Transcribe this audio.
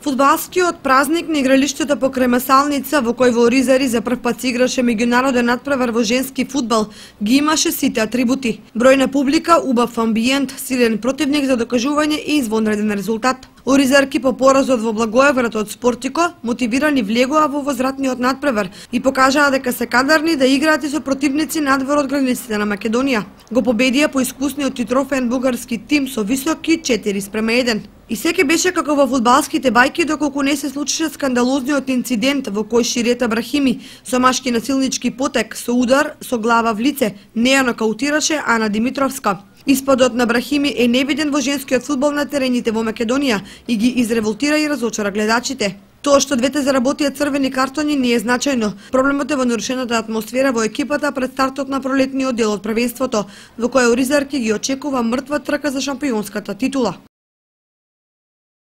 Фудбалскиот празник на игралиштето покрај Масалница, во кој во Оризари за прв пат се играше меѓународен натпревар во женски фудбал, ги имаше сите атрибути. Бројна публика, убав амбиент, силен противник за докажување и извонреден резултат. Оризарки по поразот во Благоевград од Спортико мотивирани влегоа во возвратниот натпревар и покажаа дека се кадарни да играат и со противници надвор од границите на Македонија. Го победија по искусниот и трофеен бугарски тим со високи 4:1. И секи беше како во фудбалските бајки, доколку не се случише скандалозниот инцидент во кој Ширета Брахими со машки насилнички потек со удар со глава в лице не ја нокаутираше Ана Димитровска. Испадот на Брахими е невиден во женскиот фудбал на терените во Македонија и ги изреволтира и разочара гледачите. Тоа што двете заработија црвени картони не е значајно. Проблемот е во нарушената атмосфера во екипата пред стартот на пролетниот дел од првенството, во кој Оризарки ги очекува мртва трка за шампионската титула.